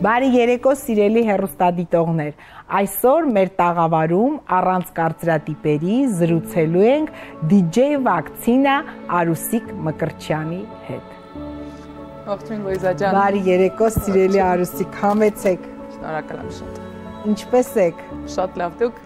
Բարի երեկո սիրելի հեռուստադիտողներ, այսօր մեր տաղավարում առանց կարծրատիպերի զրուցելու ենք DJ վակցինա Արուսիկ Մկրտչյանի հետ։ Ողջույն Լուիզա ջան։ Բարի երեկո սիրելի Արուսիկ, համեցեք։ Շնորհակալ եմ շատ։ Ինչպե՞ս եք։ Շատ լավ, դուք։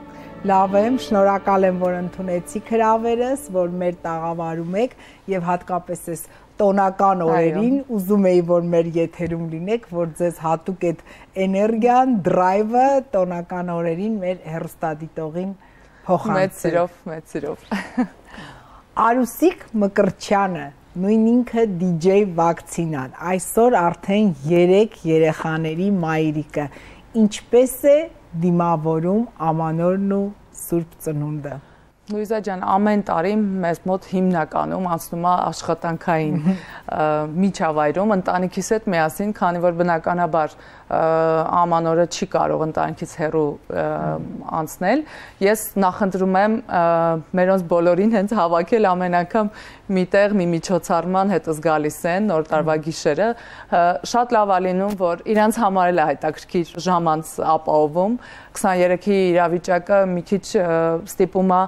Լավ եմ, շնորհակալ եմ, որ ընդունեցիք հրավերս, որ մեր տաղավարում եք եւ հատկապես այս տոնական օրերին ուզում էի, որ մեր եթերում լինեք, որ ձեզ հատուկ այդ էներգիան, դրայվը տոնական օրերին մեր հեռուստադիտողին փոխանցեք։ Մեծ սիրով։ Արուսիկ Մկրտչյանը, նույն ինքը DJ վակցինան, այսօր արդեն 3 երեխաների մայրիկը, ինչպես է դիմավորում ամանորն ու Սուրբ Ծնունդը։ Լուիզա ջան, ամեն տարի մեզ մոտ հիմնականում անցնում է աշխատանքային միջավայրում ընտանիքիս հետ միասին, քանի որ բնականաբար ամանորը չի կարող ընտանիքից հեռու անցնել։ Ես նախընտրում եմ մերոնց բոլորին հենց հավաքել ամեն անգամ միտեղ մի միջոցառման հետս գալիս են նոր տարվա գիշերը։ Շատ լավ է լինում, որ իրանց համար էլ է հետաքրքիր ժամանց ապահովում։ 23-ի իրավիճակը մի քիչ ստիպում է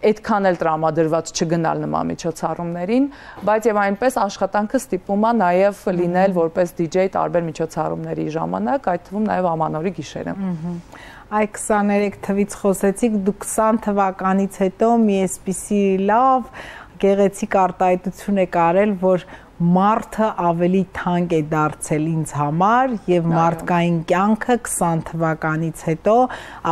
այդքան էլ տրամադրված չգնալ նման միջոցառումներին, բայց եւ այնպես աշխատանքը ստիպում է նաեւ լինել որպես DJ տարբեր միջոցառումների ժամանակ, այդ թվում նաեւ ամանորի գիշերը։ Այ 23 թվից խոսեցիք, դուք 20 թվականից հետո մի էսպիսի լավ գեղեցիկ արտահայտություն եք արել, որ մարդը ավելի թանկ է դարձել ինձ համար եւ մարդկային կյանքը 20 թվականից հետո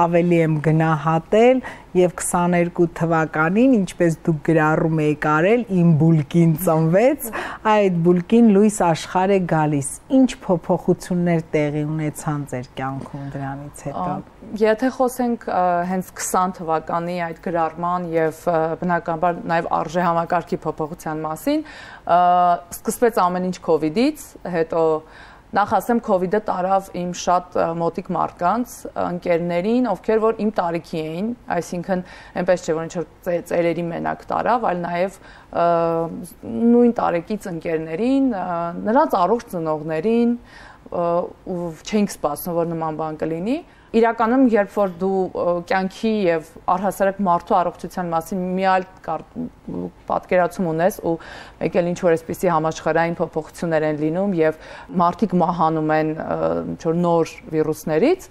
ավելի եմ գնահատել եւ 22 թվականին, ինչպես դուք գրառում եք արել, իմ բուլկին ծնվեց, այդ բուլկին լույս աշխարհ է գալիս։ Ինչ փոփոխություններ տեղի ունեցան ձեր կյանքում դրանից հետո։ Եթե խոսենք հենց 20 թվականի այդ գրառման եւ բնականաբար նաեւ արժե համակարգի փոփոխության մասին, սկսվեց ամեն ինչ COVID-ից, հետո նախ ասեմ COVID-ը տարավ իմ շատ մոտիկ մարդկանց, ընկերներին, ովքեր որ իմ տարիքի էին, այսինքն այնպես չէ որ ինչ որ ծերերի մենակ տարավ, այլ նաև նույն տարեկից ընկերներին, նրանց առողջ ծնողներին, ու չէինք սպասում որ նման բան կլինի։ Իրականում երբ որ դու կյանքի եւ առհասարակ մարդու առողջության մասին մի այլ պատկերացում ունես ու մեկ էլ ինչ որ այսպիսի համաշխարհային փոփոխություններ են լինում եւ մարդիկ մահանում են ինչ որ նոր վիրուսներից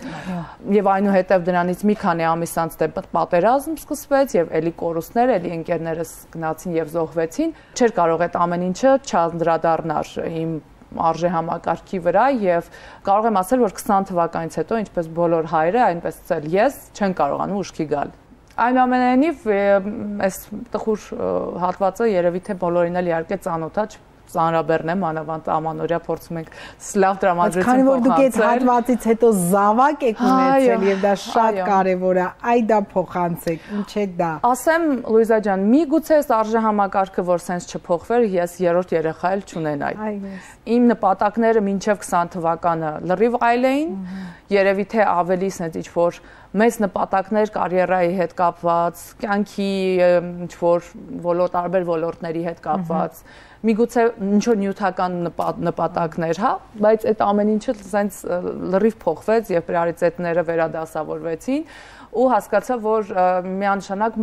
եւ այնուհետեւ դրանից մի քանի ամիս անց դե պատերազմ սկսվեց եւ էլի կորուստներ, էլի ընկերներս գնացին եւ զոհվեցին, չէր կարող այդ ամեն ինչը չանդրադառնար իմ արժե համակարգի վրա եւ կարող եմ ասել, որ 20 թվականից հետո, ինչպես բոլոր հայրը, այնպես էլ ես չեն կարողանում ուշքի գալ։ Այնուամենայնիվ, այս տխուր հատվածը երևի թե բոլորին էլ իհարկե ծանոթ է, ծանրաբեռն է, մանավանդ ամանորյա փորձում ենք լավ տրամադրություն փոխանցել։ Քանի որ դուք այդ հատվածից հետո զավակ եք ունեցել եւ դա շատ կարեւոր է, այ դա փոխանցեք, ինչ է դա։ Ասեմ Լուիզա ջան, միգուցե այս արժե համակարգը որ սենց չփոխվեր, ես երրորդ երեխա էլ չունենայի։ Իմ նպատակները մինչև 20 թվականը լրիվ այլ էին, երևի թե ավելի սենց ինչ որ մեծ նպատակներ կարիերայի հետ կապված, կյանքի ինչ որ տարբեր ոլորտների հետ կապված, միգուցե ինչ որ նյութական նպատակներ, հա, բայց այդ ամեն ինչը սենց լրիվ փոխվեց եւ պրիորիտետները վերադասավորվեցին ու հասկացա, որ միանշանակ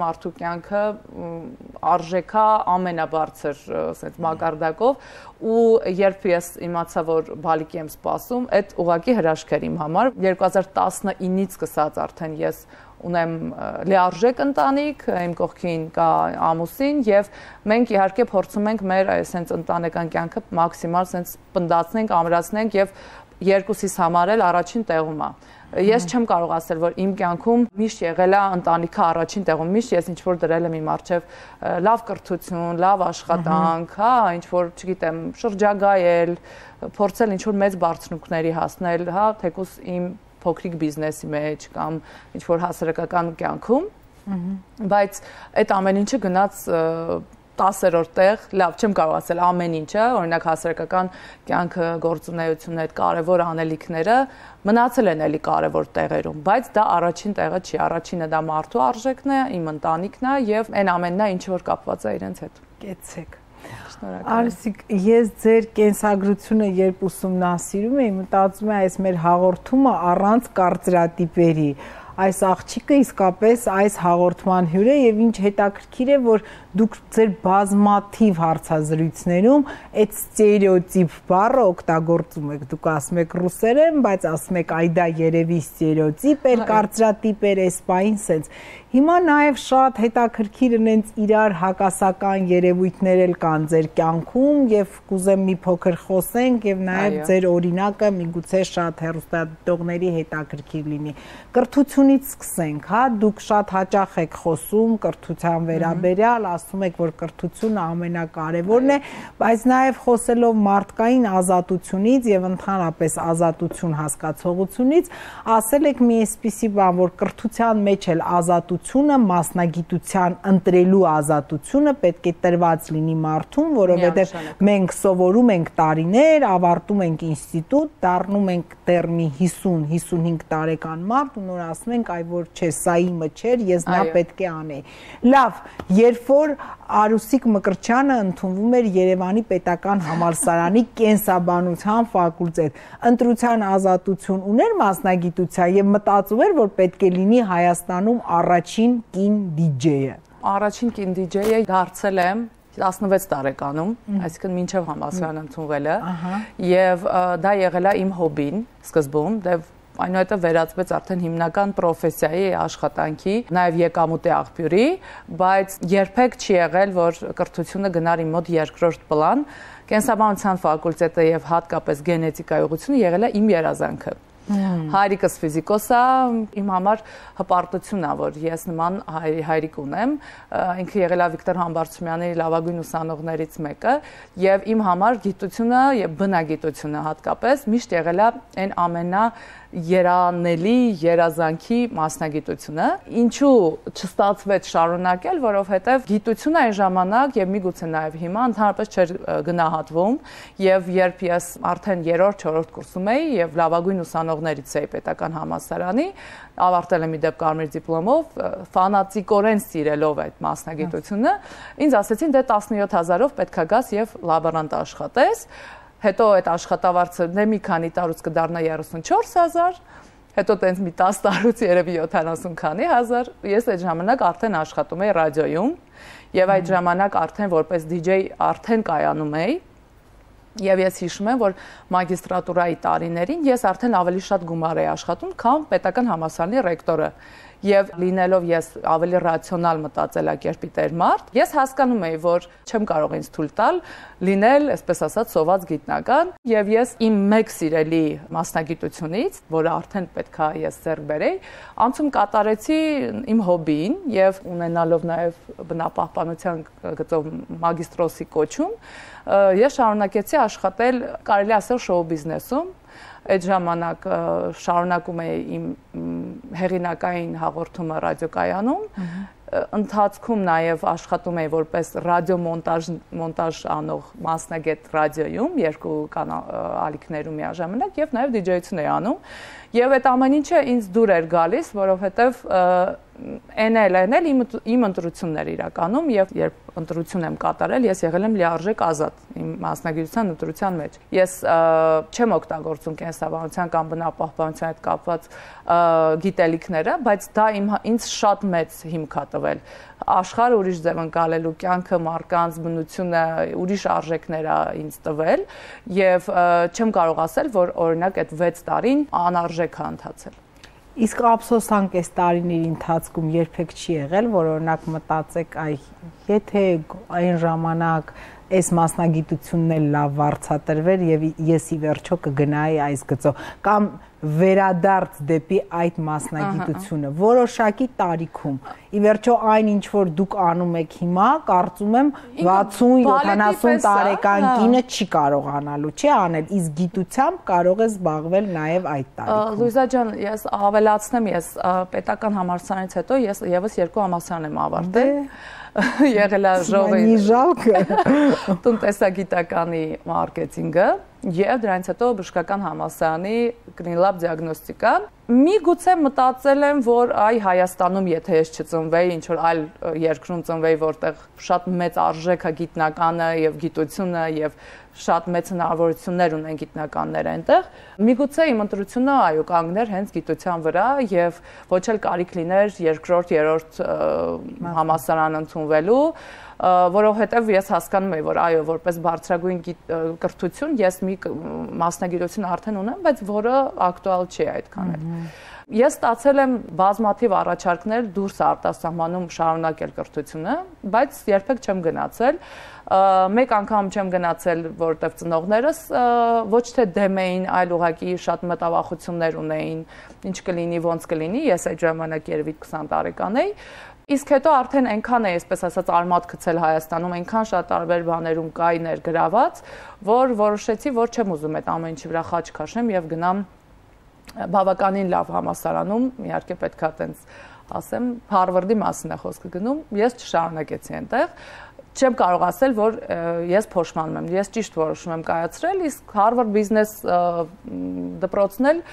մարդու կյանքը արժեքա ամենաբարձր սենց մակարդակով ու երբ ես իմացա, որ բալիկի եմ սպասում, այդ ուղղակի հրաշք էր իմ համար 2019-ից սկսած արդեն ես ունեմ լիարժեք ընտանիք, իմ կողքին կա ամուսին եւ մենք իհարկե փորձում ենք մեր այսենց ընտանեկան կյանքը մաքսիմալ սենց պնդացնենք, ամրացնենք եւ երկուսիս համար էլ առաջին տեղում է։ Ես չեմ կարող ասել, որ իմ կյանքում միշտ եղել է ընտանիքը առաջին տեղում, միշտ ես ինչ որ դրել եմ իմ առջև լավ կրթություն, լավ աշխատանք, հա, ինչ որ, չգիտեմ, շրջագայել, փորձել ինչ որ մեծ բարձունքների հասնել, հա, թեկուզ իմ փոքրիկ բիզնեսի մեջ կամ ինչ որ հասարակական կյանքում, բայց այդ ամեն ինչը գնաց 10-րդ տեղ, լավ, չեմ կարող ասել ամեն ինչը, օրինակ հասարակական կյանքը, գործունեությունը, այդ կարևոր անելիքները մնացել են էլի կարևոր տեղերում, բայց դա առաջին տեղը չի, առաջինը դա մարդու արժեքն է, իմ ընտանիքն է եւ այն ամենն է, ինչ որ կապված է իրենց հետ։ Կեցեք։ Արսիկ, ես ձեր կենսագրությունը երբ ուսումնասիրում էի, մտածում եմ այս մեր հաղորդումը առանց կարծրատիպերի այս աղջիկը իսկապես այս հաղորդման հյուր է եւ ինչ հետաքրքիր է, որ դուք ձեր բազմաթիվ հարցազրույցներում այդ ստերեոտիպ բառը օգտագործում եք, դուք ասում եք ռուսերեն, բայց ասում եք այ դա երևի ստերեոտիպ էր, կարծրատիպ էր, էսպային sense։ Հիմա նաև շատ հետաքրքիր ունենց իրար հակասական երևույթներ էլ կան ձեր կյանքում եւ կուզեմ մի փոքր խոսենք եւ նաև ձեր օրինակը միգուցե շատ հեռուստադիտողների հետաքրքիր լինի։ Կրթությունից սկսենք, հա, դուք շատ հաճախ եք խոսում կրթության վերաբերյալ, ասում եք, որ կրթությունը ամենակարևորն է, բայց նաև խոսելով մարդկային ազատությունից եւ ընդհանրապես ազատություն հասկացողությունից, ասել եք մի այսպիսի բան, որ կրթության մեջ էլ ազատությունը, մասնագիտության ընտրելու ազատությունը պետք է տրված լինի մարդուն, որովհետև մենք սովորում ենք տարիներ, ավարտում ենք ինստիտուտ, դառնում ենք դեռ մի 50-55 տարեկան մարդ ու նոր ասում ենք, այ որ չէ, սա իմը չէր, ես դա պետք է անեի։ Լավ, երբ որ Արուսիկ Մկրտչյանը ընդունվում էր Երևանի պետական համալսարանի կենսաբանության ֆակուլտետ, ընտրության ազատություն ուներ մասնագիտության եւ մտածում էր, որ պետք է լինի Հայաստանում առաջին կին դիջեյը։ Առաջին կին դիջեյը դարձել եմ 16 տարեկանում, այսինքն մինչև համալսարան ընդունվելը, եւ դա եղել է իմ հոբին սկզբում, այնուհետև վերածվեց արդեն հիմնական պրոֆեսիայի աշխատանքի, նաև եկամուտի աղբյուրի, բայց երբեք չի եղել, որ կրթությունը գնար իմ մոտ երկրորդ պլան, կենսաբանության ֆակուլտետը եւ հատկապես գենետիկայի ուղղությունը եղել է իմ երազանքը։ Հայրիկս ֆիզիկոս է, իմ համար հպարտություն է, որ ես նման հայրիկ ունեմ, ինքը եղել է Վիկտոր Համբարձումյանի լավագույն ուսանողներից մեկը, եւ իմ համար գիտությունը եւ բնագիտությունը հատկապես միշտ եղել է այն ամենաերանելի երազանքի մասնագիտությունը, ինչու չստացվեց շարունակել, որովհետեւ գիտությունը այն ժամանակ եւ միգուցե նաեւ հիմա ընդհանրապես չէր գնահատվում, եւ երբ ես արդեն 3-4 կուրսում էի եւ լավագույն ուսանողներից էի պետական համալսարանի, ավարտել եմ իդեպ կարմիր դիպլոմով, ֆանատիկորեն սիրելով այդ մասնագիտությունը, ինձ ասեցին դե 17000-ով պետքա գաս եւ լաբորանտ աշխատես, հետո այդ աշխատավարձը դե մի քանի տարուց կդառնա 34000, հետո տենց մի 10 տարուց երևի 70 քանի հազար, ես այդ ժամանակ արդեն աշխատում էի ռադիոյում եւ այդ ժամանակ արդեն որպես DJ արդեն կայանում էի Եվ ես հիշում եմ, որ մագիստրատուրայի տարիներին ես արդեն ավելի շատ գումար էի աշխատում, քան պետական համալսարանի ռեկտորը։ Եվ լինելով ես ավելի ռացիոնալ մտածելակերպի տեր մարդ, ես հասկանում էի, որ չեմ կարող ինձ թույլ տալ լինել, այսպես ասած, սոված գիտնական, եւ ես իմ մեկ սիրելի մասնագիտությունից, որը արդեն պետքա ես ձեռք բերեի, անցում կատարեցի իմ հոբիին եւ ունենալով նաեւ բնապահպանության գծով մագիստրոսի կոչում, ես շարունակեցի աշխատել, կարելի ասել, շոու բիզնեսում։ Այդ ժամանակ շարունակում էի իմ հեղինակային հաղորդումը ռադիոկայանում, ընթացքում նաև աշխատում էի որպես ռադիոմոնտաժ անող մասնագետ ռադիոյում, երկու ալիքներում միաժամանակ եւ նաև դիջեյություն էի անում, եւ այդ ամեն ինչը ինձ դուր էր գալիս, որովհետեւ էնել իմ ընտրություններ իրականում եւ երբ ընտրություն եմ կատարել, ես եղել եմ լիարժեք ազատ իմ մասնագիտության ընտրության մեջ։ Ես չեմ օգտագործում կենսաբանության կամ բնապահպանության հետ կապված գիտելիքները, բայց դա ինձ շատ մեծ հիմք է տվել։ Աշխարհը ուրիշ ձև ընկալելու, կյանքը, մարդկանց բնությունը ուրիշ արժեքներ է ինձ տվել եւ չեմ կարող ասել, որ օրինակ այդ 6 տարին անարժեք է ընթացել։ Իսկ ափսոսանք այս տարիների ընթացքում երբեք չի եղել, որ օրինակ մտածեք, այ եթե այն ժամանակ այս մասնագիտությունն էլ լավ վարձատրվեր եւ ես ի վերջո կգնայի այս գծով, կամ վերադարձ դեպի այդ մասնագիտությունը որոշակի տարիքում։ Ի վերջո այն ինչ որ դուք անում եք հիմա, կարծում եմ 60-70 տարեկան կինը չի կարողանալու, չի անել, իսկ գիտությամբ կարող է զբաղվել նաև այդ տարիքում։ Լուիզա ջան, ես ավելացնեմ, ես պետական համալսարանից հետո ես եւս 2 համալսարան եմ ավարտել։ Եղել է ժողովի տնտեսագիտականի մարքեթինգը եւ դրանից հետո բժշկական համալսարանի կլինլաբ դիագնոստիկա։ Միգուցե մտածել եմ, որ այ Հայաստանում եթե ես չծնվեի, ինչ որ այլ երկրում ծնվեի, որտեղ շատ մեծ արժեք է գիտնականը եւ գիտությունը եւ շատ մեծ հնարավորություններ ունեն գիտնականները այնտեղ, միգուցե իմ ընտրությունը այո կանգներ հենց գիտության վրա եւ ոչ էլ կարիք լիներ երկրորդ, երրորդ համալսարան ընդունվելու, որովհետեւ ես հասկանում եմ, որ այո, որպես բարձրագույն կրթություն ես մի մասնագիտություն արդեն ունեմ, բայց որը ակտուալ չի այդքան էլ։ Ես ստացել եմ բազմաթիվ առաջարկներ դուրս արտասահմանում շարունակել կրթությունը, բայց երբեք չեմ գնացել։ Մեկ անգամ չեմ գնացել, որտեղ ծնողներս ոչ թե դեմ էին, այլ ուղղակի շատ մտավախություններ ունեին, ինչ կլինի, ոնց կլինի, ես այդ ժամանակ երևի 20 տարեկան էի։ Իսկ հետո արդեն այնքան է, այսպես ասած, արմատ գցել Հայաստանում, այնքան շատ տարբեր բաներում կայ ներգրաված, որ որոշեցի, որ չեմ ուզում այդ ամեն ինչի վրա խաչ քաշեմ եւ գնամ բավականին լավ համալսարանում, իհարկե պետք է տենց ասեմ, Հարվարդի մասին է խոսքը գնում, ես չշարունակեցի այնտեղ, չեմ կարող ասել, որ ես փոշմանում եմ, ես ճիշտ որոշում եմ կայացրել, իսկ Հարվարդ բիզնես դպրոցն էլ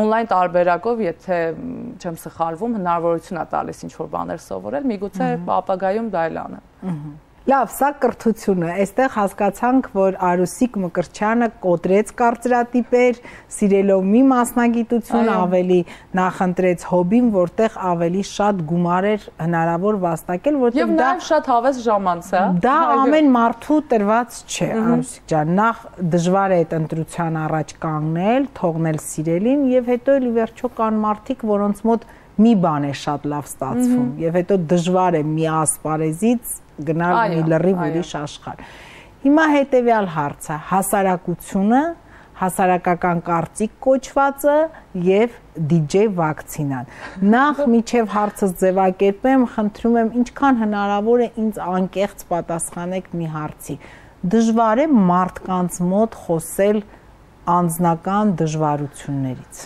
on-line տարբերակով, եթե չեմ սխալվում, հնարավորություն է տալիս ինչ-որ բաներ սովորել, միգուցե ապագայում դա էլ անեմ։ Լավ, սա կրթությունը, այստեղ հասկացանք, որ Արուսիկ Մկրտչյանը կոտրեց կարծրատիպեր, սիրելով մի մասնագիտություն, ավելի նախընտրեց հոբին, որտեղ ավելի շատ գումար էր հնարավոր վաստակել, որտեղ եւ նաեւ շատ հավես ժամանց է։ Դա ամեն մարդու տրված չէ, Արուսիկ ջան, նախ դժվար է այդ ընտրության առաջ կանգնել, թողնել սիրելին եւ հետո էլ ի վերջո կան մարդիկ, որոնց մոտ մի բան է շատ լավ ստացվում եւ հետո դժվար է մի ասպարեզից գնալ մի լրիվ ուրիշ աշխարհ։ Հիմա հետեւյալ հարցը՝ հասարակությունը, հասարակական կարծիք կոչվածը եւ DJ վակցինան։ Նախ միջև հարցս ձևակերպեմ, խնդրում եմ ինչքան հնարավոր է ինձ անկեղծ պատասխանեք մի հարցի։ Դժվար է մարդկանց մոտ խոսել անձնական դժվարություններից։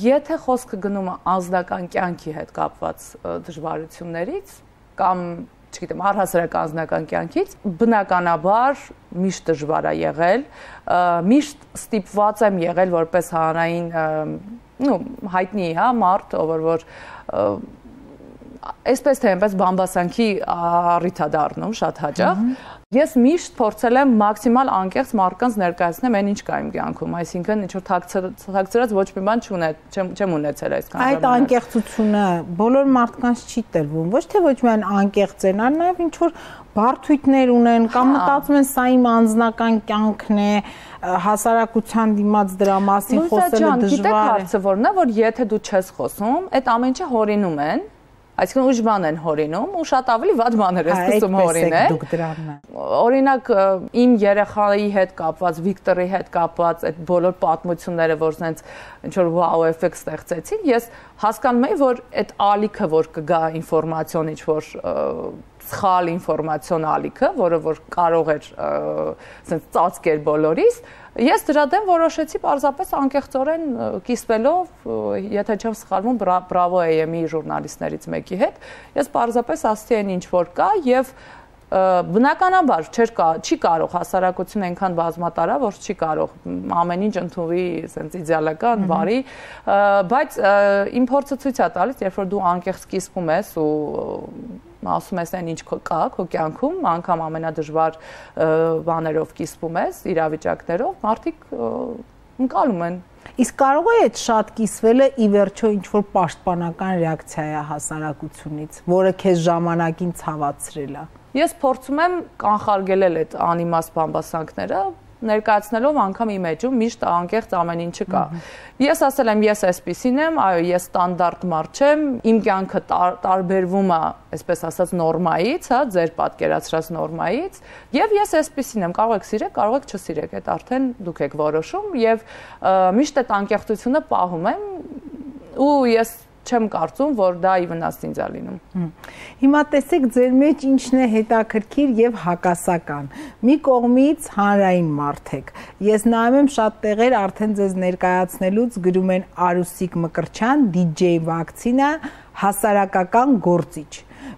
Եթե խոսքը գնում է անձնական կյանքի հետ կապված դժվարություններից կամ չգիտեմ, առհասարակ անձնական կյանքից, բնականաբար միշտ դժվար է եղել, միշտ ստիպված եմ եղել որպես հանրային, հայտնի, հա, մարդ, որ այսպես թե այնպես բամբասանքի առիթ է դառնում շատ հաճախ։ Ես միշտ փորձել եմ մաքսիմալ անկեղծ մարդկանց ներկայացնել այն ինչ կա իմ կյանքում, այսինքն ինչ որ թաքցրած ոչ մի բան չեմ ունեցել այսքան ժամանակ։ Այդ անկեղծությունը բոլոր մարդկանց չի տրվում, ոչ թե ոչ միայն անկեղծ են, այլ նաև ինչ որ բարդույթներ ունեն կամ մտածում են սա իմ անձնական կյանքն է, հասարակության դիմաց դրա մասին խոսելը դժվար է։ Գիտեք հարցը որն է, որ եթե դու չես խոսում, այդ ամեն ինչը հորինում են։ Այսինքն ուժ բան են հորինում ու շատ ավելի վատ բաներ է սկսում հորինել։ Օրինակ իմ երեխայի հետ կապված, Վիկտորի հետ կապված այդ բոլոր պատմությունները, որ sense ինչ որ wow effect ստեղծեցին, ես հասկանում եմ, որ այդ ալիքը, որ կգա ինֆորմացիոն ինչ որ սխալ ինֆորմացիոն ալիքը, որը որ կարող էր sense ծածկել բոլորիս, ես դրա դեմ որոշեցի պարզապես անկեղծորեն կիսվելով, եթե չեմ սխալվում, Bravo AM-ի ժուրնալիստներից մեկի հետ, ես պարզապես ասացի այն ինչ որ կա եւ բնականաբար չի կարող հասարակությունը այնքան բազմատարա, որ չի կարող ամեն ինչ ընդունվի sense իդեալական, բարի, բայց իմ փորձը ցույց է տալիս, երբ որ դու անկեղծ կիսվում ես ու ասում ես այն ինչ կա քո կյանքում, անգամ ամենադժվար բաներով կիսվում ես, իրավիճակներով, մարդիկ ընկալում են։ Իսկ կարող է այդ շատ կիսվելը ի վերջո ինչ-որ պաշտպանական ռեակցիա է հասարակությունից, որը քեզ ժամանակին ցավացրել է։ Ես փորձում եմ կանխարգելել այդ անիմաստ բամբասանքները, ներկայացնելով անգամ իմ էջում միշտ անկեղծ ամեն ինչը կա։ Ես ասել եմ, ես այսպեսին եմ, այո, ես ստանդարտ մարդ չեմ, իմ կյանքը տարբերվում է, այսպես ասած, նորմայից, հա, ձեր պատկերացրած նորմայից, եւ ես այսպեսին եմ, կարող եք սիրեք, կարող եք չսիրեք, այդ արդեն դուք եք որոշում եւ միշտ այդ անկեղծությունը պահում եմ ու ես չեմ կարծում, որ դա ի վնաս ինձ է լինում։ Հիմա տեսեք ձեր մեջ ինչն է հետաքրքիր եւ հակասական։ Մի կողմից հանրային մարդ եք։ Ես նայում եմ շատ տեղեր արդեն ձեզ ներկայացնելուց գրում են Արուսիկ Մկրտչյան, DJ վակցինա, հասարակական գործիչ։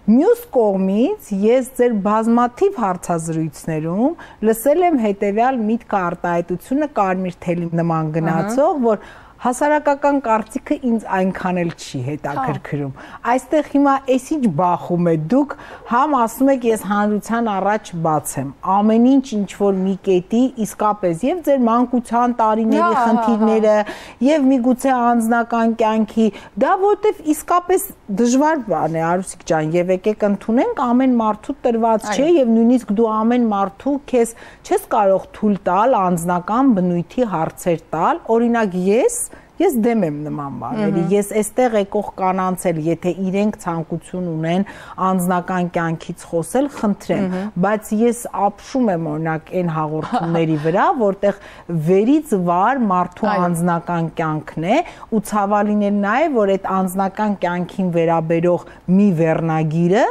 Մյուս կողմից ես ձեր բազմաթիվ հարցազրույցներում լսել եմ հետեւյալ միտքը արտահայտությունը կարմիր թելի նման գնացող, որ հասարակական կարծիքը ինձ այնքան էլ չի հետաքրքրում։ Այստեղ հիմա էս ինչ բախում է դուք, համ ասում եք ես հանրության առաջ բաց եմ, ամեն ինչ որ մի կետի իսկապես եւ ձեր մանկության տարիների խնդիրները եւ միգուցե անձնական կյանքի, դա որտեվ իսկապես դժվար բան է, Արուսիկ ջան, եւ եկեք ընդունենք ամեն մարդու տրված չէ եւ նույնիսկ դու ամեն մարդու քեզ չես կարող թույլ տալ անձնական բնույթի հարցեր տալ, օրինակ Ես դեմ եմ նման բաների, ես այստեղ եկող կանանց էլ, եթե իրենք ցանկություն ունեն անձնական կյանքից խոսել, խնդրեմ, բայց ես ապշում եմ օրինակ այն հաղորդումների վրա, որտեղ վերից վար մարդու անձնական կյանքն է ու ցավալին է նաև, որ այդ անձնական կյանքին վերաբերող մի վերնագիրը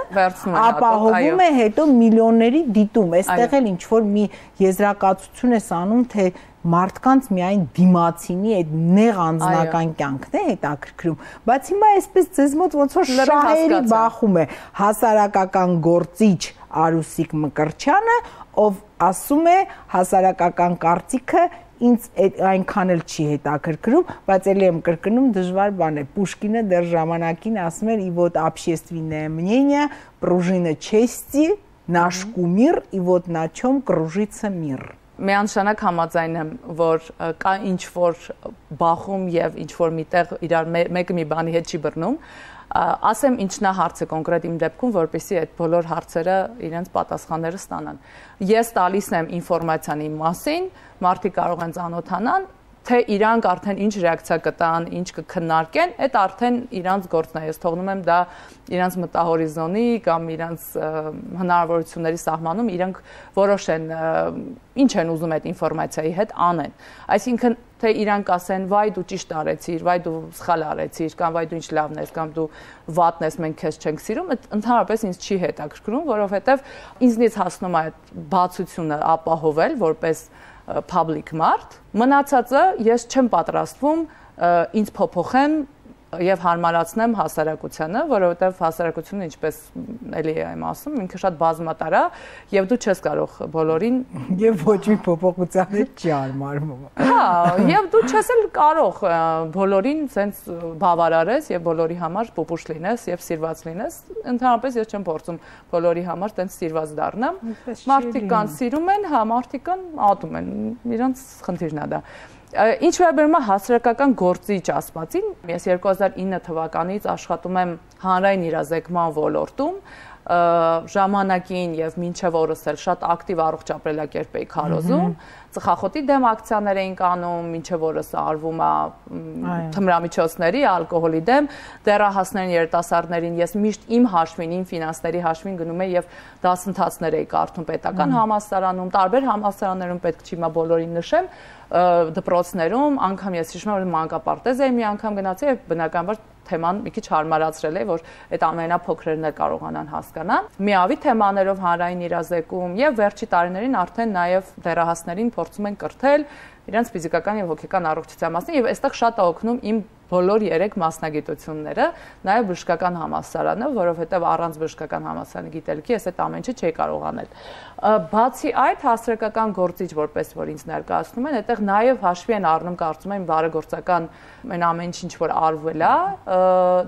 ապահովում է հետո միլիոնների դիտում, այստեղ էլ ինչ որ մի եզրակացություն ես անում, թե մարդկանց միայն դիմացինի այդ նեղ անձնական կյանքն է հետաքրքրում, բայց հիմա այսպես ձեզ մոտ ոնց որ շահերի բախում է հասարակական գործիչ Արուսիկ Մկրտչյանը, ով ասում է հասարակական կարծիքը ինձ այնքան էլ չի հետաքրքրում, բայց էլի եմ կրկնում, դժվար բան է։ Պուշկինը դեռ ժամանակին ասում էր՝ «И вот общественное мнение, пружина чести, наш кумир, и вот на чем кружится мир»։ Միանշանակ համաձայն եմ, որ կա ինչ-որ բախում եւ ինչ-որ միտեղ իրար մեկը մի բանի հետ չի բռնում, ասեմ ինչն է հարցը կոնկրետ իմ դեպքում, որպեսզի այդ բոլոր հարցերը իրենց պատասխանները ստանան։ Ես տալիս եմ ինֆորմացիան իմ մասին, մարդիկ կարող են ծանոթանան, թե իրանք արդեն ինչ ռեակցիա կտան, ինչ կքննարկեն, այդ արդեն իրանց գործն է, ես թողնում եմ դա իրանց մտահորիզոնի կամ իրանց հնարավորությունների սահմանում, իրանք որոշեն ինչ են ուզում այդ ինֆորմացիայի հետ անեն։ Այսինքն թե իրանք ասեն վայ դու ճիշտ արեցիր, վայ դու սխալ արեցիր, կամ վայ դու ինչ լավն ես, կամ դու վատն ես, մենք քեզ չենք սիրում, ընդհանրապես ինձ չի հետաքրքրում, որովհետև ինձնից հասնում է այդ բացությունը ապահովել որպես public մարդ, մնացածը ես չեմ պատրաստվում ինձ փոփոխեմ եւ հարմարացնեմ հասարակությանը, որովհետեւ հասարակությունը ինչպես էլի եմ ասում, ինքը շատ բազմատար է եւ դու չես կարող բոլորին եւ ոչ մի փոփոխության հետ չի հարմարվում։ Հա, եւ դու չես էլ կարող բոլորին sense բավարարես եւ բոլորի համար պուպուշ լինես եւ սիրված լինես։ Ընդհանրապես ես չեմ փորձում բոլորի համար sense սիրված դառնամ։ Մարդիկ կան սիրում են, հա, մարդիկ կան ատում են։ Իրանց խնդիրն է դա։ Ինչ վերաբերում է հասարակական գործիչ ասվածին, ես 2009 թվականից աշխատում եմ հանրային իրազեկման ոլորտում, ժամանակին եւ մինչեւ օրս էլ շատ ակտիվ առողջ ապրելակերպ էի քարոզում, ծխախոտի դեմ ակցիաներ էինք անում, մինչեւ օրս արվում է թմրամիջոցների, ալկոհոլի դեմ, դեռահասներին, երիտասարդներին ես միշտ իմ հաշվին, իմ ֆինանսների հաշվին գնում եի եւ դասընթացներ էի կարդում պետական համալսարանում, տարբեր համալսարաններում պետք չի մա բոլորին նշեմ, դպրոցներում, անգամ ես հիշում եմ, որ մանկապարտեզ էի մի անգամ գնացի եւ բնականաբար թեման մի քիչ հարմարացրել է, որ այդ ամենափոքրերն էլ կարողանան հասկանալ։ Միավի թեմաներով հանրային իրազեկում եւ վերջի տարիներին արդեն նաեւ դեռահասներին փորձում են կրթել իրենց ֆիզիկական եւ հոգեկան առողջության մասին եւ այստեղ շատ է օգնում իմ բոլոր 3 մասնագիտությունները, նաեւ բժշկական համալսարանը, որովհետեւ առանց բժշկական համալսարանի գիտելիքի ես այդ ամեն ինչը չէի կարող անել։ Բացի այդ հասարակական գործիչ որպես որ ինձ ներկայացնում են, այդտեղ նաեւ հաշվի են առնում կարծում եմ բարեգործական այն ամեն ինչ որ արվել է,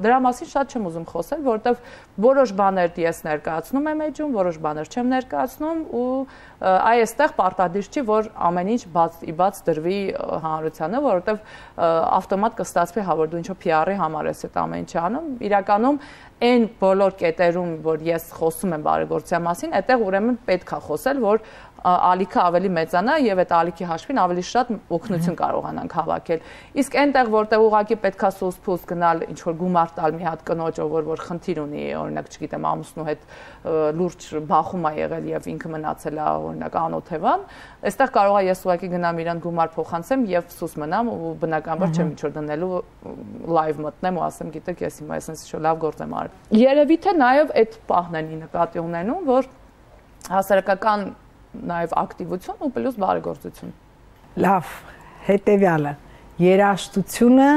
դրա մասին շատ չեմ ուզում խոսել, որովհետեւ որոշ բաներ ես ներկայացնում եմ էջում, որոշ բաներ չեմ ներկայացնում ու այստեղ պարտադիր չի որ ամեն ինչ բաց դրվի հանրությանը, որովհետեւ ավտոմատ կստացվի հա որ դու ինչ-որ PR-ի համար ես այդ ամեն ինչը անում, իրականում այն բոլոր կետերում, որ ես խոսում եմ բարեգործության մասին, այդտեղ ուրեմն պետք է խոսել, որ ալիքը ավելի մեծանա եւ այդ ալիքի հաշվին ավելի շատ օգնություն կարողանանք հավաքել։ Իսկ այնտեղ որտեղ ուղղակի պետքա սուս-փուս գնալ ինչ որ գումար տալ մի հատ կնոջ, որ խնդիր ունի, օրինակ, չգիտեմ, ամուսնու հետ լուրջ բախում ա եղել եւ ինքը մնացել է օրինակ անօթևան, այստեղ կարող է ես ուղղակի գնամ իրան գումար փոխանցեմ եւ սուս մնամ ու բնականաբար չեմ ինչ որ դնելու լայվ մտնեմ ու ասեմ, գիտեք, ես հիմա այսպես ինչ որ լավ գործ եմ արել։ Երևի թե նաեւ այդ պահն են նկատի ունենում, որ հասարակական նաև ակտիվություն ու պլյուս բարեգործություն։ Լավ, հետևյալը, երաժշտությունը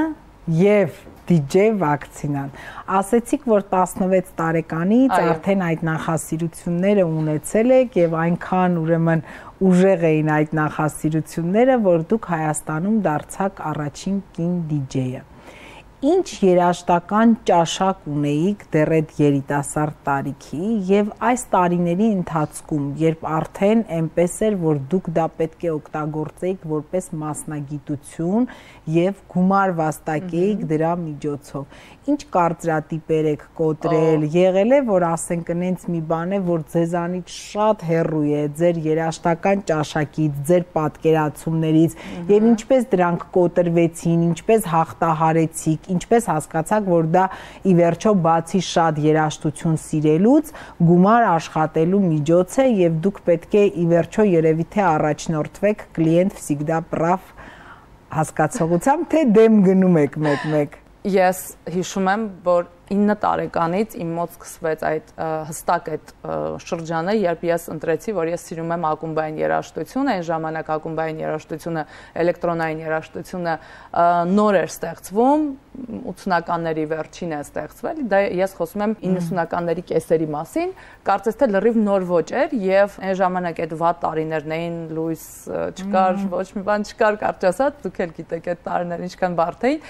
եւ DJ վակցինան։ Ասեցիք, որ 16 տարեկանից արդեն այդ նախասիրությունները ունեցել եք եւ այնքան ուրեմն ուժեղ էին այդ նախասիրությունները, որ դուք Հայաստանում դարձաք առաջին կին DJ-ը։ Ինչ երաժշտական ճաշակ ունեիք դեռ այդ երիտասարդ տարիքի եւ այս տարիների ընթացքում, երբ արդեն այնպես էր, որ դուք դա պետք է օգտագործեիք որպես մասնագիտություն եւ գումար վաստակեիք դրա միջոցով։ Ինչ կարծրատիպեր եք կոտրել, եղել է, որ ասենք նենց մի բան է, որ ձեզանից շատ հեռու է ձեր երաժշտական ճաշակից, ձեր պատկերացումներից եւ ինչպես դրանք կոտրվեցին, ինչպես հաղթահարեցիք, ինչպես հասկացաք, որ դա ի վերջո բացի շատ երաժշտություն սիրելուց գումար աշխատելու միջոց է եւ դուք պետք է ի վերջո երևի թե առաջնորդվեք կլիենտ всегда прав հասկացողությամբ, թե դեմ գնում եք մեկ-մեկ։ Ես հիշում եմ, որ 9 տարեկանից իմ մոտ սկսվեց այդ հստակ այդ շրջանը, երբ ես ընտրեցի, որ ես սիրում եմ ակումբային երաժշտություն, այն ժամանակ ակումբային երաժշտությունը, էլեկտրոնային երաժշտությունը նոր էր ստեղծվում, 80-ականների վերջին է ստեղծվել, դա ես խոսում եմ 90-ականների կեսերի մասին, կարծես թե լրիվ նոր ոճ էր եւ այն ժամանակ այդ վատ տարիներն էին, լույս չկար, ոչ մի բան չկար, կարճ ասած, դուք էլ գիտեք այդ տարիները ինչքան բարդ էին։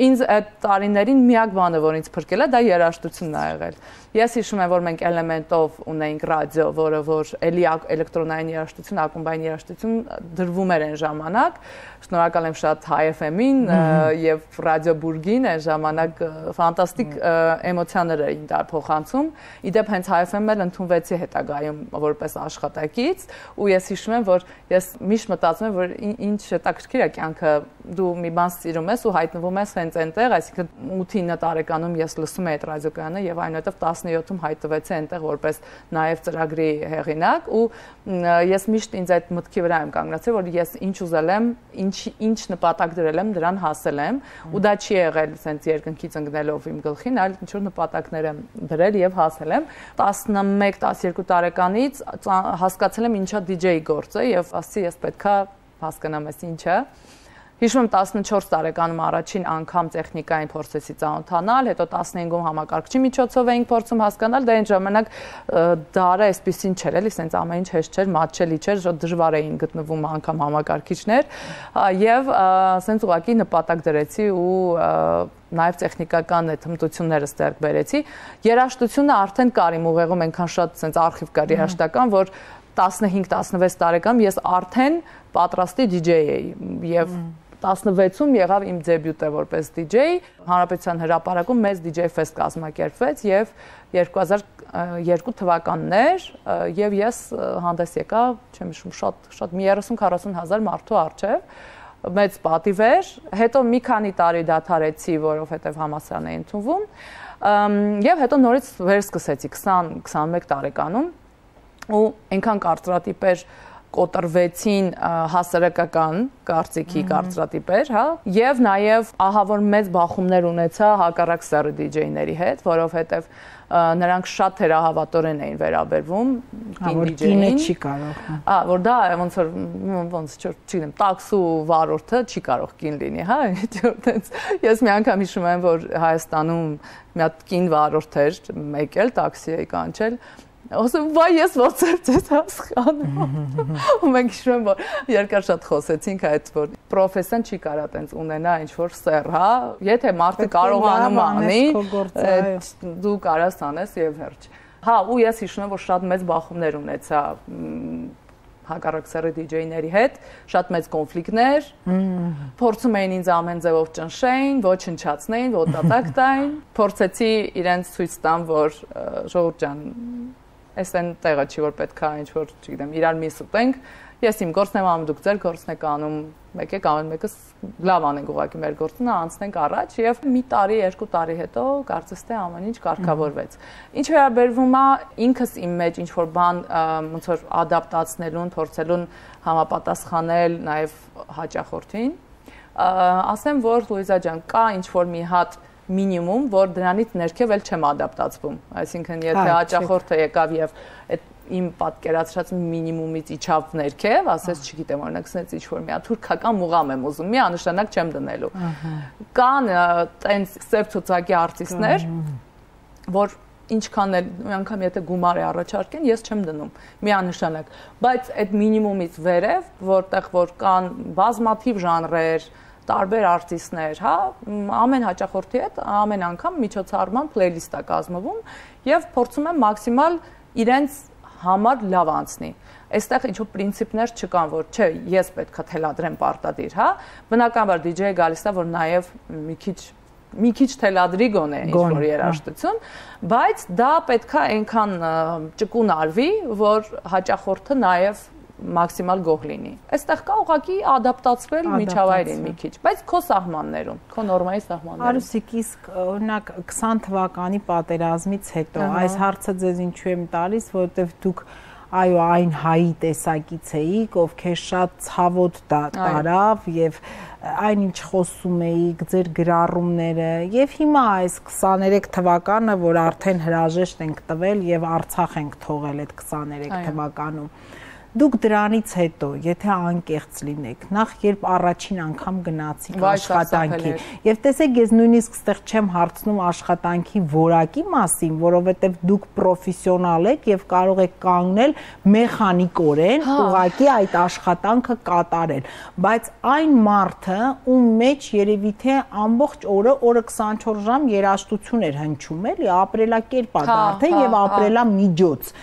Ինձ այդ տարիներին միակ բանը, որ ինձ փրկել է, դա երաժշտությունն է եղել։ Ես հիշում եմ, որ մենք Էլեմենտով ունեինք ռադիո, որը որ էլի էլեկտրոնային երաժշտություն, ակումբային երաժշտություն դրվում էր այն ժամանակ։ Շնորհակալ եմ շատ High FM-ին եւ Ռադիո Բուրգին, այն ժամանակ ֆանտաստիկ էմոցիաներ էին դա փոխանցում։ Իդեպ հենց High FM-ը ընդունվեցի հետագայում որպես աշխատակից, ու ես հիշում եմ, որ ես միշտ մտածում եմ, որ ինչ հետաքրքիր է կյանքը, դու մի բան սիրում ես ու հայտնվում ես հենց այնտեղ, այսինքն 8-9 տարեկանում ես լսում էի այդ ռադիոկայանը եւ այնուհետեւ 17-ում հայտնվեցի այնտեղ որպես նաեւ ծրագրի հեղինակ, ու ես միշտ ինձ այդ մտքի վրա եմ կանգնացել, որ ես ինչ ուզել եմ, ինչ նպատակ դրել եմ, դրան հասել եմ, ու դա չի եղել sense երկնքից ընկնելով իմ գլխին, այլ ինչ որ նպատակներ եմ դրել եւ հասել եմ։ 11-12 տարեկանից հասկացել եմ ինչա DJ գործը եւ ասի ես պետքա հասկանամ ես ինչա։ Հիշում եմ 14 տարեկանում առաջին անգամ տեխնիկային փորձեցի ծանոթանալ, հետո 15-ում համակարգչի միջոցով էինք փորձում հասկանալ, դա այն ժամանակ դարը այսպեսին չէր, էլի, sense ամեն ինչ հեշտ չէր, մատչելի չէր, շատ դժվար էին գտնվում անգամ համակարգիչներ, եւ sense ուղղակի նպատակ դրեցի ու նաև տեխնիկական այդ հմտությունները ստերկ բերեցի։ Երաժշտությունը արդեն կար իմ ուղեղում, այնքան շատ sense արխիվ կար երաժշտական, որ 15-16 տարեկանում ես արդեն պատրաստի DJ էի եւ 16-ում եղավ իմ դեբյուտը որպես DJ, Հանրապետության հրապարակում մեծ DJ Fest կազմակերպվեց եւ 2002 թվականն էր եւ ես հանդես եկա, չեմ հիշում, շատ մի 30-40 հազար մարդու առջեւ, մեծ պատիվ էր, հետո մի քանի տարի դադարեցի, որովհետեւ համալսարան էի ընդունվում, եւ հետո նորից վերսկսեցի 20-21 տարեկանում ու այնքան կարծրատիպեր կոտրվեցին հասարակական կարծիքի կարծրատիպեր, հա, եւ նաեւ ահա որ մեծ բախումներ ունեցա հակառակ սեռի DJ-ների հետ, որովհետեւ նրանք շատ թերահավատորեն էին վերաբերվում կին DJ-ին։ Չի կարող։ Որ դա ոնց չգիտեմ, տաքսու վարորդը չի կարող կին լինի, հա, ես մի անգամ հիշում եմ, որ Հայաստանում մի հատ կին վարորդ էր, եկել տաքսի էի կանչել, ասում վայ ես ոնց էր ձեզ հասկանում։ Ու մենք հիշում եմ, որ երկար շատ խոսեցինք այդ, որ պրոֆեսիան չի կարա տենց ունենա ինչ-որ սեռ, հա, եթե մարդը կարողանում անի, դու կարաս անես եւ վերջ։ Հա, ու ես հիշում եմ, որ շատ մեծ բախումներ ունեցա հակառակ սեռի DJ-ների հետ, շատ մեծ կոնֆլիկտներ, փորձում էին ինձ ամեն ձևով ճնշեին, ոչնչացնեին, ոտատակ տային, փորձեցի իրենց ցույց տամ, որ ժողովուրդ ջան Այս այն տեղը չի, որ պետք է ինչ-որ, չգիտեմ, իրար միս ուտենք, ես իմ գործն եմ անում, դուք ձեր գործն եք անում, մեկ եք անում, մեկս լավ անենք ուղղակի մեր գործը, անցնենք առաջ եւ մի տարի, 2 տարի հետո կարծես թե ամեն ինչ կարգավորվեց։ Ինչ վերաբերվում է ինքս իմ մեջ ինչ-որ բան ոնց որ ադապտացնելուն, փորձելուն համապատասխանել նաեւ հաճախորդին, ասեմ, որ Լուիզա ջան, կա ինչ-որ մի հատ մինիմում, որ դրանից ներքև էլ չեմ ադապտացվում, այսինքն եթե հաճախորդը եկավ եւ այդ իմ պատկերացրած մինիմումից իջավ ներքև, ասես, չգիտեմ, օրինակ, սենց ինչ-որ մի հատ թուրքական մուղամ եմ ուզում, միանշանակ չեմ դնելու։ Կան տենց սև ցուցակի արտիստներ, որ ինչքան էլ մի անգամ եթե գումար է առաջարկեն, ես չեմ դնում, միանշանակ, բայց այդ մինիմումից վերև, որտեղ որ կան բազմաթիվ ժանրեր, տարբեր արտիստներ, հա, ամեն հաճախորդի հետ ամեն անգամ միջոցառման պլեյլիստ է կազմվում եւ փորձում եմ մաքսիմալ իրենց համար լավ անցնի։ Այստեղ ինչ-որ պրինցիպներ չկան, որ չէ, ես պետք է թելադրեմ պարտադիր, հա։ Բնականաբար DJ-ը գալիս է, որ նաև մի քիչ թելադրի գոնե ինչ-որ երաժշտություն, բայց դա պետք է այնքան ճկուն արվի, որ հաճախորդը նաև մաքսիմալ գոհ լինի։ Այստեղ կա ուղղակի ադապտացվել միջավայրին մի քիչ, բայց քո սահմաններում, քո նորմայի սահմաններում։ Արուսիկ, իսկ օրինակ 20 թվականի պատերազմից հետո այս հարցը ձեզ ինչու եմ տալիս, որովհետև դուք այո, այն հայի տեսակից էիք, ովքեր շատ ցավոտ տարավ եւ այն ինչ խոսում էիք, ձեր գրառումները եւ հիմա այս 23 թվականը, որ արդեն հրաժեշտ ենք տվել եւ Արցախ ենք թողել այդ 23 թվականում։ Դուք դրանից հետո, եթե անկեղծ լինեք, նախ երբ առաջին անգամ գնացիք աշխատանքի, եւ տեսեք, ես նույնիսկ ստեղ չեմ հարցնում աշխատանքի որակի մասին, որովհետեւ դուք պրոֆեսիոնալ եք եւ կարող եք կանգնել մեխանիկորեն ուղղակի այդ աշխատանքը կատարել, բայց այն մարդը, ում մեջ երևի թե ամբողջ օրը 24 ժամ երաժշտություն էր հնչում, էլի, ապրելակերպ է դարձել եւ ապրելամիջոց։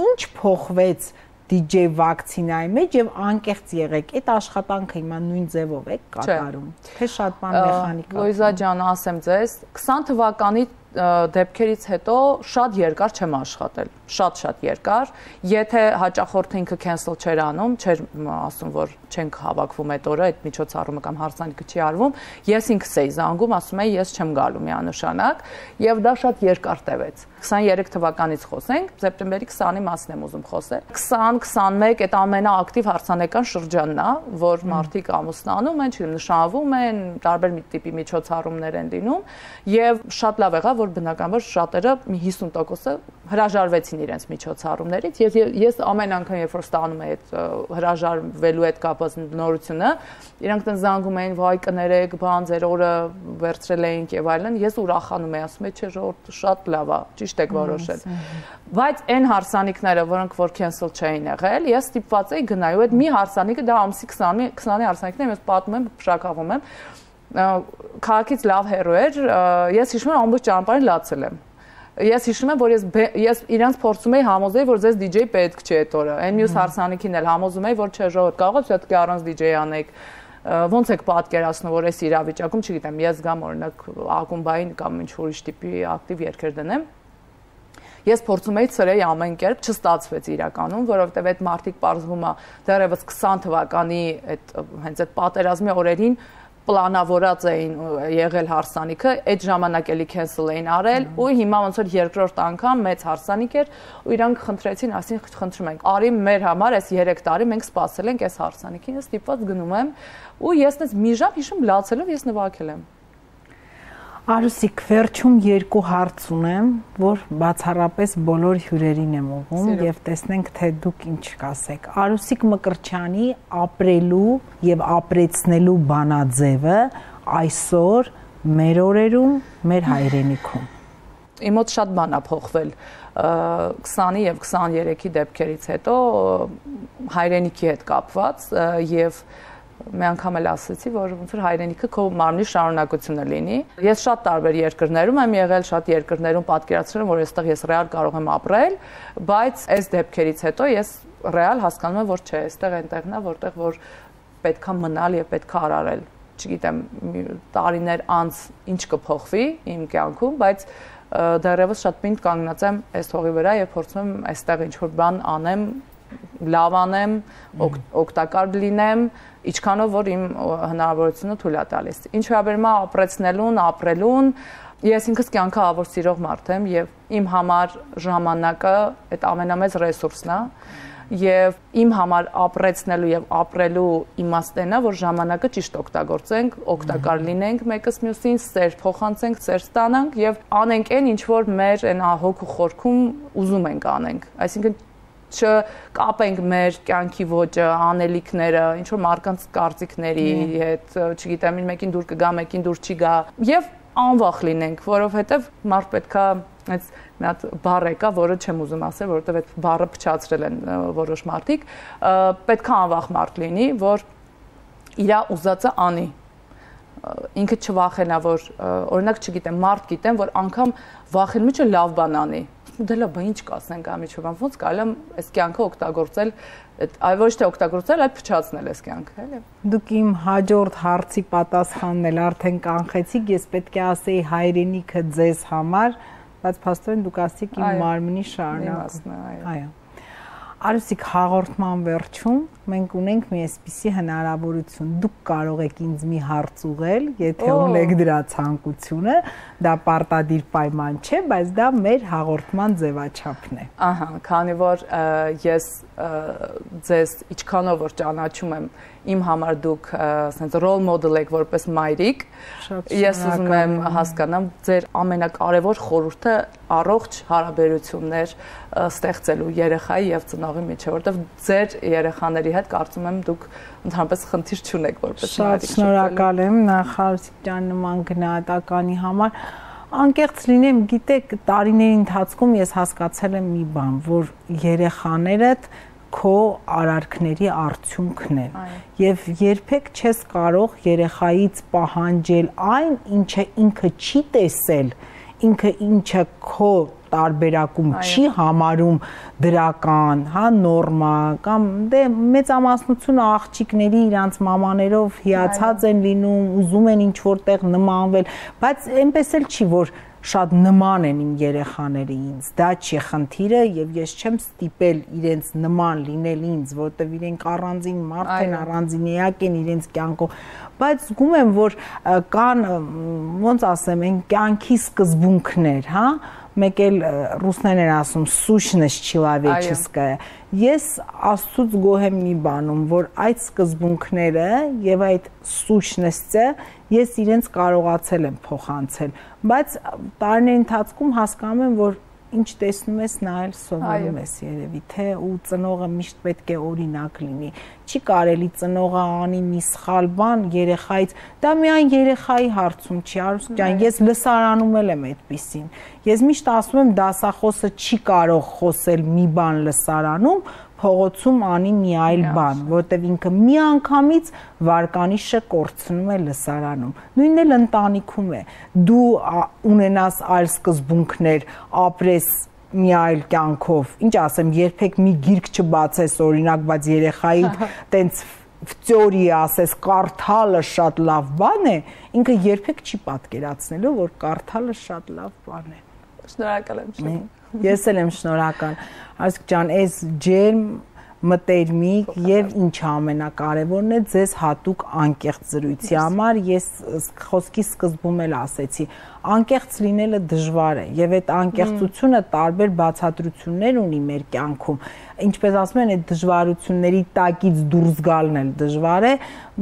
Ինչ փոխվեց DJ վակցինայի մեջ եւ անկեղծ եղեք, այդ աշխատանքը հիմա նույն ձևով եք կատարում, թե շատ բան մեխանիկա։ Լոյզա ջան, ասեմ ձեզ, 20 թվականի դեպքերից հետո շատ երկար չեմ աշխատել, շատ երկար, եթե հաճախորդը ինքը cancel չէր անում, չէր ասում, որ չենք հավաքվում այդ օրը, այդ միջոցառումը կամ հարսանիքը չի արվում, ես ինքս էի զանգում, ասում էի, ես չեմ գալու միանշանակ, եւ դա շատ երկար տևեց։ 23 թվականից խոսենք, սեպտեմբերի 20-ի մասին եմ ուզում խոսել։ 20-21 այդ ամենաակտիվ հարսանեկան շրջանն է, որ մարդիկ ամուսնանում են, նշանվում են, տարբեր տիպի միջոցառումներ են լինում, եւ շատ լավ եղավ, որ բնականաբար շատերը մի 50%-ը հրաժարվեցին իրենց միջոցառումներից, եւ ես ամեն անգամ երբ որ ստանում եմ այդ հրաժարվելու հետ կապված նորությունը, իրանք տեն զանգում էին, վայ կներեք, բան ձեր օրը վերցրել էինք եւ այլն, ես ուրախանում եմ, ասում եմ, չէ, ժողովուրդ շատ լավ է, ճիշտ եք որոշել։ Բայց այն հարսանիքները, որոնք որ cancel չէին եղել, ես ստիպված էի գնալ, այդ մի հարսանիքը դա ամսի 20-ի հարսանիքն է, ես պատմում եմ, փշակավում եմ, քաղաքից լավ հերո էր, ես հիշում եմ ամբողջ ճանապարհին լացել եմ։ Ես հիշում եմ, որ ես իրանց փորձում էի համոզել, որ ձեզ DJ պետք չէ այդ օրը։ Այն մյուս հարսանիքին էլ համոզում էի, որ չէ, ժողովուրդ կարող է պետք է առանց DJ անեք։ Ոնց եք պատկերացնում, որ այս իրավիճակում, չգիտեմ, ես գամ օրինակ ակումբային կամ ինչ ուրիշ տիպի ակտիվ երգեր դնեմ։ Ես փորձում էի ծրեի ամեն կերպ, չստացվեց իրականում, որովհետև այդ մարդիկ պարզվում է դեռևս 20 թվականի հենց այդ պատերազմի օրերին պլանավորած էին եղել հարսանիքը, այդ ժամանակ էլի cancel էին արել ու հիմա ոնց որ երկրորդ անգամ մեծ հարսանիք էր ու իրանք խնդրեցին, ասին խնդրում ենք, արի մեր համար այս 3 տարի մենք սպասել ենք այս հարսանիքին, ես ստիպված գնում եմ ու ես այնպես մի ժամ հիշում լացելով ես նվագել եմ։ Արուսիկ, վերջում 2 հարց ունեմ, որ բացառապես բոլոր հյուրերին եմ ուղղում եւ տեսնենք, թե դուք ինչ կասեք։ Արուսիկ Մկրտչյանի ապրելու եւ ապրեցնելու բանաձևը այսօր մեր օրերում, մեր հայրենիքում։ Իմ մոտ շատ բան է փոխվել 20-ի եւ 23-ի դեպքերից հետո հայրենիքի հետ կապված եւ մի անգամ էլ ասացի, որ ոնց որ հայրենիքը քո մարմնի շարունակությունը լինի։ Ես շատ տարբեր երկրներում եմ եղել, շատ երկրներում պատկերացրել եմ, որ այստեղ ես ռեալ կարող եմ ապրել, բայց այս դեպքերից հետո ես ռեալ հասկանում եմ, որ չէ, այստեղ այնտեղն է, որտեղ որ պետքա մնալ եւ պետքա արարել։ Չգիտեմ, տարիներ անց ինչ կփոխվի իմ կյանքում, բայց դեռևս շատ պինդ կանգնած եմ այս հողի վրա եւ փորձում եմ այստեղ ինչ-որ բան անեմ, լավ անեմ, օգտակար լինեմ, ինչքանով որ իմ հնարավորությունը թույլ է տալիս։ Ինչ վերաբերում է ապրեցնելուն, ապրելուն, ես ինքս կյանքը ավոր սիրող մարդ եմ եւ իմ համար ժամանակը այդ ամենամեծ ռեսուրսն է եւ իմ համար ապրեցնելու եւ ապրելու իմաստն է, որ ժամանակը ճիշտ օգտագործենք, օգտակար լինենք մեկս մյուսին, սեր փոխանցենք, սեր ստանանք եւ անենք այն ինչ որ մեր այն հոգու խորքում ուզում ենք անենք։ Այսինքն չկապենք մեր կյանքի ոճը, անելիքները, ինչ որ մարդկանց կարծիքների հետ, չգիտեմ, մեկին դուր կգա, մեկին դուր չի գա եւ անվախ լինենք, որովհետեւ մարդ պետքա այս մի հատ բառ եկա, որը չեմ ուզում ասել, որովհետեւ այդ բառը փչացրել են որոշ մարդիկ, պետքա անվախ մարդ լինի, որ իրա ուզածը անի։ Ինքը չվախենա, որ օրինակ չգիտեմ, մարդ գիտեմ, որ անգամ վախենում է լավ բան անի։ Դե լավ, ինչ կասենք ամիջովան, ոնց կարելի է այս կյանքը օգտագործել, այ ոչ թե օգտագործել, այլ փչացնել այս կյանքը, էլի։ Դուք իմ հաջորդ հարցի պատասխանն էլ արդեն կանխեցիք, ես պետք է ասեի հայրենիքը ձեզ համար, բայց փաստորեն դուք ասիք իմ մարմնի շարունակում։ Այո։ Արուսիկ, հաղորդման վերջում մենք ունենք մի այսպիսի հնարավորություն, դուք կարող եք ինձ մի հարց ուղղել, եթե ունեք դրա ցանկությունը, դա պարտադիր պայման չէ, բայց դա մեր հաղորդման ձևաչափն է։ Ահա, քանի որ ես ձեզ ինչքանով որ ճանաչում եմ, իմ համար դուք ասենց role model եք որպես մայրիկ, ես ուզում եմ հասկանամ ձեր ամենակարևոր խորհուրդը առողջ հարաբերություններ ստեղծելու երեխայի եւ ծնողի միջեւ, որովհետեւ ձեր երեխաների հետ կարծում եմ դուք ընդհանրապես խնդիր չունեք որպես մայրիկ։ Շատ շնորհակալ եմ Նախարարիկ ջան նման գնահատականի համար։ Անկեղծ լինեմ, գիտեք, տարիների ընթացքում ես հասկացել եմ մի բան, որ երեխաներդ քո արարքների արդյունքն են եւ երբեք չես կարող երեխայից պահանջել այն, ինչը ինքը չի տեսել, ինքը ինչը քո տարբերակում չի համարում դրական, հա, նորմա, կամ դե մեծամասնությունը աղջիկների իրանց մամաներով հիացած են լինում, ուզում են ինչ որտեղ նմանվել, բայց այնպես էլ չի, որ շատ նման են իմ երեխաները ինձ, դա չի խնդիրը եւ ես չեմ ստիպել իրենց նման լինել ինձ, որտեւ իրենք առանձին մարդ են, առանձին էակ են իրենց կյանքով, բայց զգում եմ, որ կան, ոնց ասեմ, այն կյանքի սկզբունքներ, հա, մեկ էլ ռուսներեն են ասում սուշնես չիլավեչեսկայա։ Ես Աստծուց գոհ եմ մի բանում, որ այդ սկզբունքները եւ այդ սուշնեսը ես իրենց կարողացել եմ փոխանցել, բայց տարիների ընթացքում հասկանում եմ, որ ինչ տեսնում ես, նա էլ սովորում ես երևի, թե ու ծնողը միշտ պետք է օրինակ լինի։ Չի կարելի ծնողը անի մի սխալ բան երեխայից, դա միայն երեխայի հարցում չի, Արուսիկ ջան, ես լսարանում եմ այդպիսին։ Ես միշտ ասում եմ, դասախոսը չի կարող խոսել մի բան լսարանում, փողոցում անի մի այլ բան, որտեվ ինքը մի անգամից վարկանիշը կորցնում է լսարանում։ Նույնն էլ ընտանիքում է։ Դու ունենաս այլ սկզբունքներ, ապրես մի այլ կյանքով, ինչ ասեմ, երբեք մի գիրք չբացես օրինակ, բայց երեխայիդ տենց վծորի ասես կարդալը շատ լավ բան է, ինքը երբեք չի պատկերացնելու, որ կարդալը շատ լավ բան է։ Շնորհակալ եմ շատ։ Ես էլ եմ շնորհակալ, Արուսիկ ջան, այս ջերմ մտերմիկ եւ ինչ ամենակարևորն է ձեզ հատուկ անկեղծ զրույցի համար, ես խոսքի սկզբում էլ ասեցի, անկեղծ լինելը դժվար է եւ այդ անկեղծությունը տարբեր բացատրություններ ունի մեր կյանքում, ինչպես ասում են, այդ դժվարությունների տակից դուրս գալն էլ դժվար է,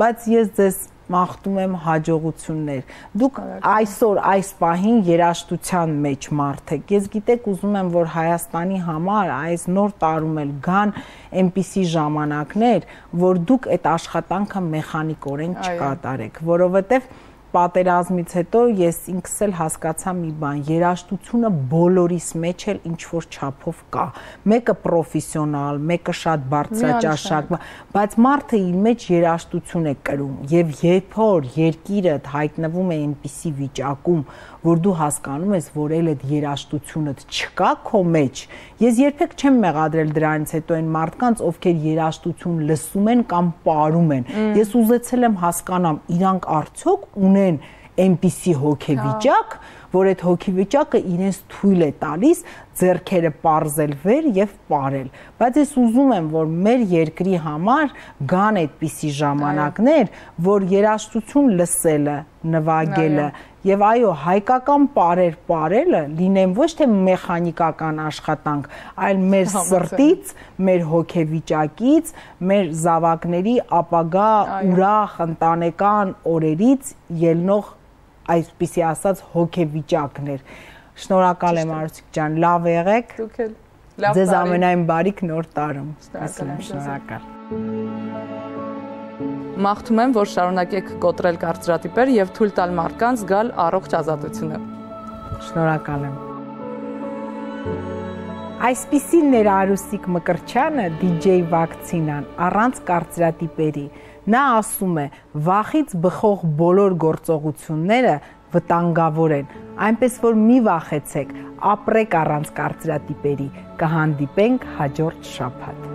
բայց ես ձեզ մաղթում եմ հաջողություններ։ Դուք այսօր այս պահին երաժշտության մեջ մարդ եք։ Ես գիտեք ուզում եմ, որ Հայաստանի համար այս նոր տարում էլ գան այնպիսի ժամանակներ, որ դուք այդ աշխատանքը մեխանիկորեն չկատարեք, որովհետև պատերազմից հետո ես ինքս էլ հասկացա մի բան, երաժշտությունը բոլորիս մեջ էլ ինչ որ չափով կա։ Մեկը պրոֆեսիոնալ, մեկը շատ բարձրաճաշակ, բայց մարդը իր մեջ երաժշտություն է կրում եւ երբ որ երկիրդ հայտնվում է այնպիսի վիճակում, որ դու հասկանում ես, որ էլ այդ երաժշտությունդ չկա քո մեջ, ես երբեք չեմ մեղադրել դրանից հետո այն մարդկանց, ովքեր երաժշտություն լսում են կամ պարում են։ Ես ուզեցել եմ հասկանամ, իրանք արդյոք ունեն այնպիսի հոգեվիճակ, որ այդ հոգեվիճակը իրենց թույլ է տալիս ձեռքերը պարզել վեր եւ պարել։ Բայց ես ուզում եմ, որ մեր երկրի համար գան այդպիսի ժամանակներ, որ երաժշտություն լսելը, նվագելը եւ այո, հայկական պարեր պարելը լինեն ոչ թե մեխանիկական աշխատանք, այլ մեր սրտից, մեր հոգեվիճակից, մեր զավակների ապագա ուրախ ընտանեկան օրերից ելնող այսպիսի ասած հոգեվիճակներ։ Շնորհակալ եմ Արուսիկ ջան, լավ եղեք։ Դուք էլ լավ։ Ձեզ ամենայն բարիք նոր տարում։ Շնորհակալ։ Մաղթում եմ, որ շարունակեք կոտրել կարծրատիպեր եւ թույլ տալ մարդկանց գալ առողջ ազատությունը։ Շնորհակալ եմ։ Այսպիսին էր Արուսիկ Մկրտչյանը, DJ Վակցինան, առանց կարծրատիպերի։ Նա ասում է, վախից բխող բոլոր գործողությունները վտանգավոր են, այնպես որ մի վախեցեք, ապրեք առանց կարծրատիպերի, կհանդիպենք հաջորդ շաբաթ։